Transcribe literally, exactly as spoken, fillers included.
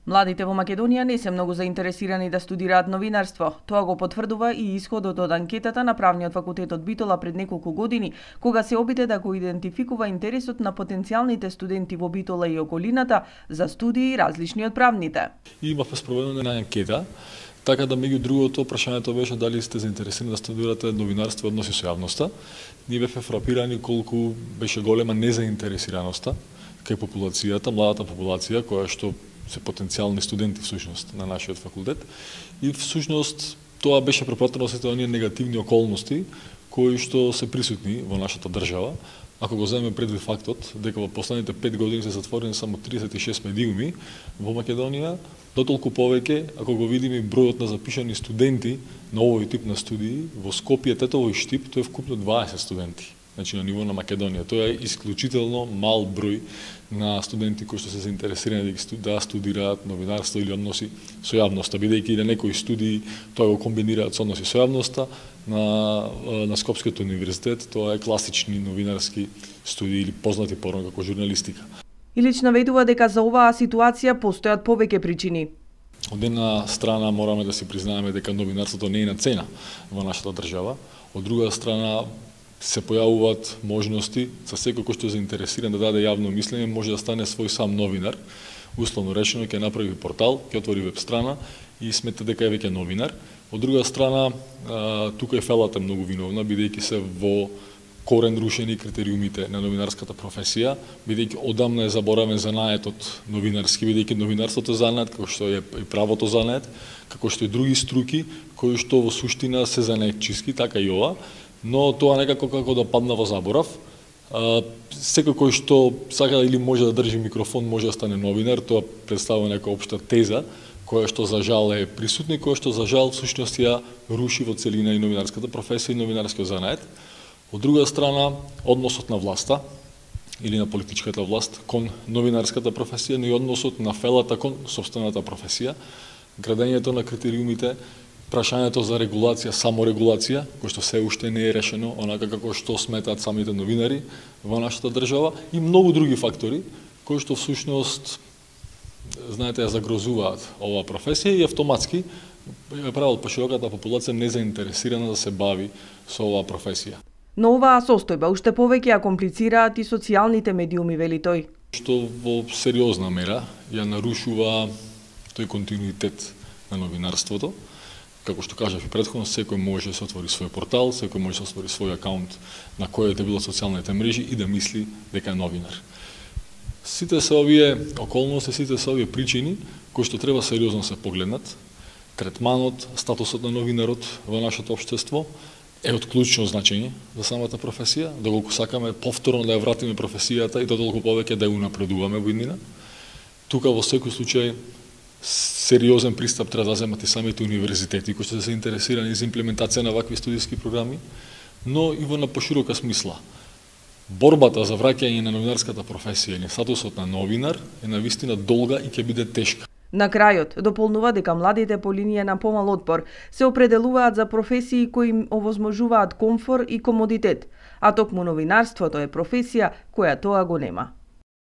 Младите во Македонија не се многу заинтересирани да студираат новинарство. Тоа го потврдува и исходот од анкетата на Правниот факултет од Битола пред неколку години, кога се обиде да го идентификува интересот на потенцијалните студенти во Битола и околината за студии различни од правните. Имавме спроведена анкета, така да меѓу другото прашањето беше дали сте заинтересирани да студирате новинарство и односи со јавноста. Ние бевме фрапирани колку беше голема незаинтересираноста кај популацијата, младата популација која што се потенцијални студенти всушност на нашиот факултет, и всушност тоа беше препратено со оние негативни околности кои што се присутни во нашата држава. Ако го земеме предвид фактот дека во последните пет години се затворени само тридесет и шест медиуми во Македонија, дотолку повеќе ако го видиме бројот на запишани студенти на овој тип на студии во Скопје, Тетово и Штип, тоа е вкупно дваесет студенти. Значи на ниво на Македонија. Тоа е исклучително мал број на студенти кои што се заинтересирани да студираат новинарство или односи со јавноста, бидејќи на некои студии тоа го комбинираат со односи со јавноста, на на Скопскиот универзитет тоа е класични новинарски студии или познати порано како журналистика. Илич наведува дека за оваа ситуација постојат повеќе причини. Од една страна мораме да си признаеме дека новинарството не е на цена во нашата држава, од друга страна се појавуваат можности за секој кој што е заинтересиран да даде јавно мислење, може да стане свој сам новинар. Условно речено, ќе направи портал, ќе отвори веб страна и смета дека е веќе новинар. Од друга страна, тука е фелата многу виновна, бидејќи се во корен рушени критериумите на новинарската професија, бидејќи одамна е заборавен занаетот новинарски, бидејќи новинарството е занает, како што е и правото занает, како што и други струки, кои што во суштина се занаетчиски, така и ова, но тоа некако како да падна во заборав. Секој кој што сака или може да држи микрофон, може да стане новинар, тоа представува нека општа теза, која што за жал е присутна и која што за жал всушност ја руши во целина и новинарската професија и новинарскиот занает. Од друга страна, односот на власта или на политичката власт кон новинарската професија, но и односот на фелата кон сопствената професија, градењето на критериумите, прашањето за регулација, саморегулација, кој што се уште не е решено, онака како што сметаат самите новинари во нашата држава, и многу други фактори кои што всушност знаете ја загрозуваат оваа професија и автоматски ја прават пошироката популација незаинтересирана да се бави со оваа професија. Но оваа состојба уште повеќе ја комплицираат и социјалните медиуми, вели тој. Што во сериозна мера ја нарушува тој континуитет на новинарството. Како што кажав и претходно, секој може да се отвори свој портал, секој може да се отвори свој акаунт на кој да било социјалните мрежи и да мисли дека е новинар. Сите се овие околности, сите се овие причини кои што треба сериозно се погледнат. Третманот, статусот на новинарот во нашето општество е од клучно значење за самата професија, доколку сакаме повторно да ја вратиме професијата и додолку повеќе да ја унапредуваме во иднина. Тука во секој случај сериозен пристап треба да земат и самите универзитети кои што се заинтересирани за имплементација на вакви студиски програми, но и во на поширока смисла. Борбата за враќање на новинарската професија или статусот на новинар е навистина долга и ќе биде тешка. На крајот, дополнува дека младите по линија на помал отпор се определуваат за професии кои им овозможуваат комфор и комодитет, а токму новинарството е професија која тоа го нема.